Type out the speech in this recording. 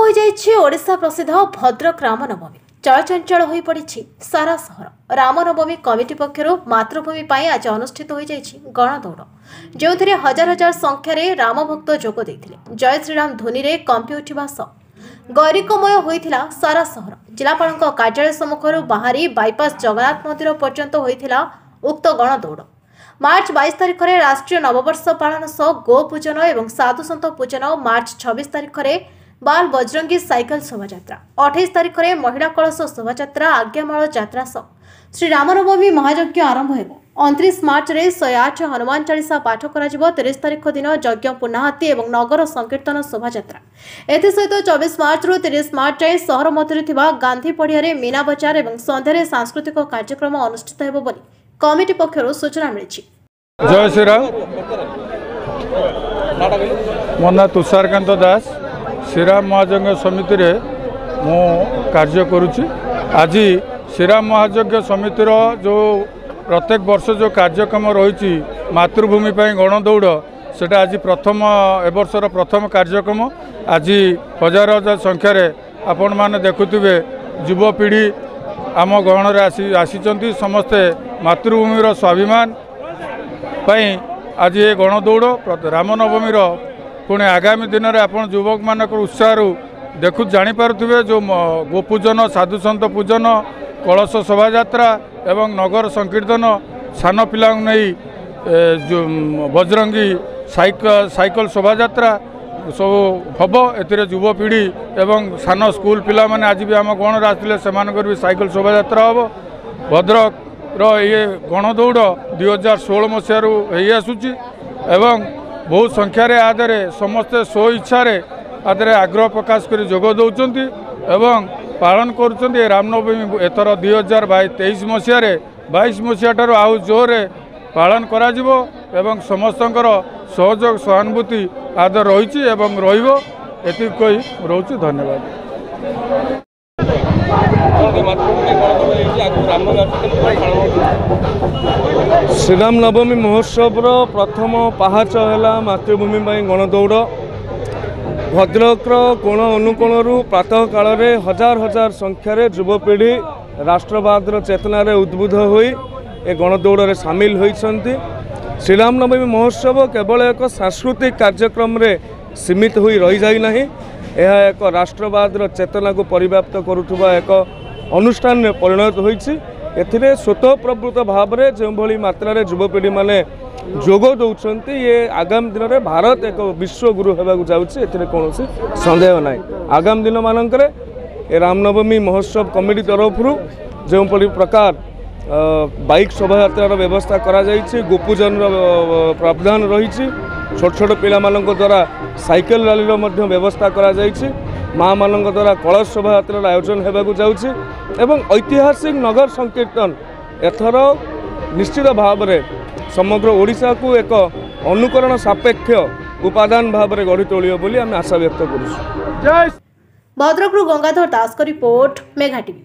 ହୋଇଯାଇଛି ଓଡ଼ିଶା ପ୍ରସିଦ୍ଧ ଭଦ୍ରକ ରାମନବମୀ। ଚଳଚଞ୍ଚଳ ହୋଇପଡ଼ିଛି ସାରା ସହର। ରାମନବମୀ କମିଟି ପକ୍ଷରୁ ମାତୃଭୂମି ପାଇଁ ଆଜି ଅନୁଷ୍ଠିତ ହୋଇଯାଇଛି ଗଣଦୌଡ଼, ଯେଉଁଥିରେ ହଜାର ହଜାର ସଂଖ୍ୟାରେ ରାମଭକ୍ତ ଯୋଗ ଦେଇଥିଲେ। ଜୟ ଶ୍ରୀରାମ ଧ୍ୱନିରେ କମ୍ପି ଉଠିବା ସହ ଗୈରିକମୟ ହୋଇଥିଲା ସାରା ସହର। ଜିଲ୍ଲାପାଳଙ୍କ କାର୍ଯ୍ୟାଳୟ ସମ୍ମୁଖରୁ ବାହାରି ବାଇପାସ୍ ଜଗନ୍ନାଥ ମନ୍ଦିର ପର୍ଯ୍ୟନ୍ତ ହୋଇଥିଲା ଉକ୍ତ ଗଣଦୌଡ଼। ମାର୍ଚ୍ଚ 22 ତାରିଖରେ ରାଷ୍ଟ୍ରୀୟ ନବବର୍ଷ ପାଳନ ସହ ଗୋ ପୂଜନ ଏବଂ ସାଧୁସନ୍ଥ ପୂଜନ, ମାର୍ଚ୍ଚ 26 ତାରିଖରେ ବାଲ ବଜରଙ୍ଗୀ ସାଇକେଲ ଶୋଭାଯାତ୍ରା, 28 ତାରିଖରେ ମହିଳା କଳସ ଶୋଭାଯାତ୍ରା, ଆଜ୍ଞାମାଳ ଯାତ୍ରା ସହ ଶ୍ରୀରାମନବମୀ ମହାଯଜ୍ଞ ଆରମ୍ଭ ହେବ। 29 ମାର୍ଚ୍ଚରେ 108 ହନୁମାନ ଚାଳିଶା ପାଠ କରାଯିବ। 30 ତାରିଖ ଦିନ ଯଜ୍ଞ ପୂର୍ଣ୍ଣାହତି ଏବଂ ନଗର ସଂକୀର୍ତ୍ତନ ଶୋଭାଯାତ୍ରା। ଏଥିସହିତ 24 ମାର୍ଚ୍ଚରୁ 30 ମାର୍ଚ୍ଚ ଯାଏଁ ସହର ମଧ୍ୟରେ ଥିବା ଗାନ୍ଧୀ ପଡ଼ିଆରେ ମୀନା ବଜାର ଏବଂ ସନ୍ଧ୍ୟାରେ ସାଂସ୍କୃତିକ କାର୍ଯ୍ୟକ୍ରମ ଅନୁଷ୍ଠିତ ହେବ ବୋଲି କମିଟି ପକ୍ଷରୁ ସୂଚନା ମିଳିଛି। ଜୟ ଶ୍ରୀରାମ। ମୋ ନାଁ ତୁଷାରକାନ୍ତ ଦାସ। ଶ୍ରୀରାମ ମହାଯଜ୍ଞ ସମିତିରେ ମୁଁ କାର୍ଯ୍ୟ କରୁଛି। ଆଜି ଶ୍ରୀରାମ ମହାଯଜ୍ଞ ସମିତିର ଯେଉଁ ପ୍ରତ୍ୟେକ ବର୍ଷ ଯେଉଁ କାର୍ଯ୍ୟକ୍ରମ ରହିଛି ମାତୃଭୂମି ପାଇଁ ଗଣଦୌଡ଼, ସେଇଟା ଆଜି ପ୍ରଥମ, ଏ ବର୍ଷର ପ୍ରଥମ କାର୍ଯ୍ୟକ୍ରମ। ଆଜି ହଜାର ହଜାର ସଂଖ୍ୟାରେ ଆପଣମାନେ ଦେଖୁଥିବେ ଯୁବପିଢ଼ି ଆମ ଗହଣରେ ଆସିଛନ୍ତି। ସମସ୍ତେ ମାତୃଭୂମିର ସ୍ୱାଭିମାନ ପାଇଁ ଆଜି ଏ ଗଣଦୌଡ଼ ରାମନବମୀର। ପୁଣି ଆଗାମୀ ଦିନରେ ଆପଣ ଯୁବକମାନଙ୍କର ଉତ୍ସାହରୁ ଜାଣିପାରୁଥିବେ ଯେଉଁ ଗୋପୂଜନ, ସାଧୁସନ୍ଥ ପୂଜନ, କଳସ ଶୋଭାଯାତ୍ରା ଏବଂ ନଗର ସଂକୀର୍ତ୍ତନ, ସାନ ପିଲାଙ୍କୁ ନେଇ ବଜରଙ୍ଗୀ ସାଇକେଲ ଶୋଭାଯାତ୍ରା ସବୁ ହେବ। ଏଥିରେ ଯୁବପିଢ଼ି ଏବଂ ସାନ ସ୍କୁଲ ପିଲାମାନେ ଆଜି ବି ଆମ ଗଣରେ ଆସିଥିଲେ, ସେମାନଙ୍କର ବି ସାଇକେଲ ଶୋଭାଯାତ୍ରା ହେବ। ଭଦ୍ରକର ଇଏ ଗଣଦୌଡ଼ 2016 ମସିହାରୁ ହେଇ ଆସୁଛି ଏବଂ ବହୁତ ସଂଖ୍ୟାରେ ଆ ଦେହରେ ସମସ୍ତେ ସ୍ୱଇଚ୍ଛାରେ ଆ ଦେହରେ ଆଗ୍ରହ ପ୍ରକାଶ କରି ଯୋଗ ଦେଉଛନ୍ତି ଏବଂ ପାଳନ କରୁଛନ୍ତି। ଏ ରାମନବମୀ ଏଥର 2023 ମସିହାରେ 22 ମସିହା ଠାରୁ ଆଉ ଜୋରରେ ପାଳନ କରାଯିବ ଏବଂ ସମସ୍ତଙ୍କର ସହଯୋଗ ସହାନୁଭୂତି ଆଦର ରହିଛି ଏବଂ ରହିବ, ଏତିକି କହି ରହୁଛି। ଧନ୍ୟବାଦ। ଶ୍ରୀରାମ ନବମୀ ମହୋତ୍ସବର ପ୍ରଥମ ପାହାଚ ହେଲା ମାତୃଭୂମି ପାଇଁ ଗଣଦୌଡ଼। ଭଦ୍ରକର କୋଣ ଅନୁକୋଣରୁ ପ୍ରାତଃ କାଳରେ ହଜାର ହଜାର ସଂଖ୍ୟାରେ ଯୁବପିଢ଼ି ରାଷ୍ଟ୍ରବାଦର ଚେତନାରେ ଉଦ୍ବୁଦ୍ଧ ହୋଇ ଏ ଗଣଦୌଡ଼ରେ ସାମିଲ ହୋଇଛନ୍ତି। ଶ୍ରୀରାମନବମୀ ମହୋତ୍ସବ କେବଳ ଏକ ସାଂସ୍କୃତିକ କାର୍ଯ୍ୟକ୍ରମରେ ସୀମିତ ହୋଇ ରହିଯାଇ ନାହିଁ, ଏହା ଏକ ରାଷ୍ଟ୍ରବାଦର ଚେତନାକୁ ପରିବ୍ୟାପ୍ତ କରୁଥିବା ଏକ ଅନୁଷ୍ଠାନରେ ପରିଣତ ହୋଇଛି। ଏଥିରେ ସ୍ୱତଃପ୍ରବୃତ୍ତ ଭାବରେ ଯେଉଁଭଳି ମାତ୍ରାରେ ଯୁବପିଢ଼ିମାନେ ଯୋଗ ଦେଉଛନ୍ତି, ଇଏ ଆଗାମୀ ଦିନରେ ଭାରତ ଏକ ବିଶ୍ୱଗୁରୁ ହେବାକୁ ଯାଉଛି, ଏଥିରେ କୌଣସି ସନ୍ଦେହ ନାହିଁ। ଆଗାମୀ ଦିନମାନଙ୍କରେ ଏ ରାମନବମୀ ମହୋତ୍ସବ କମିଟି ତରଫରୁ ଯେଉଁଭଳି ପ୍ରକାର ବାଇକ୍ ଶୋଭାଯାତ୍ରାର ବ୍ୟବସ୍ଥା କରାଯାଇଛି, ଗୋପୂଜନର ପ୍ରାବଧାନ ରହିଛି, ଛୋଟ ଛୋଟ ପିଲାମାନଙ୍କ ଦ୍ୱାରା ସାଇକେଲ ରାଲିର ମଧ୍ୟ ବ୍ୟବସ୍ଥା କରାଯାଇଛି, ମାଆମାନଙ୍କ ଦ୍ୱାରା କଳସ ଶୋଭାଯାତ୍ରାର ଆୟୋଜନ ହେବାକୁ ଯାଉଛି ଏବଂ ଐତିହାସିକ ନଗର ସଂକୀର୍ତ୍ତନ ଏଥର ନିଶ୍ଚିତ ଭାବରେ ସମଗ୍ର ଓଡ଼ିଶାକୁ ଏକ ଅନୁକରଣ ସାପେକ୍ଷ ଉପାଦାନ ଭାବରେ ଗଢ଼ି ତୋଳିବ ବୋଲି ଆମେ ଆଶା ବ୍ୟକ୍ତ କରୁଛୁ। ଭଦ୍ରକରୁ ଗଙ୍ଗାଧର ଦାସଙ୍କ ରିପୋର୍ଟ, ମେଘା ଟିଭି।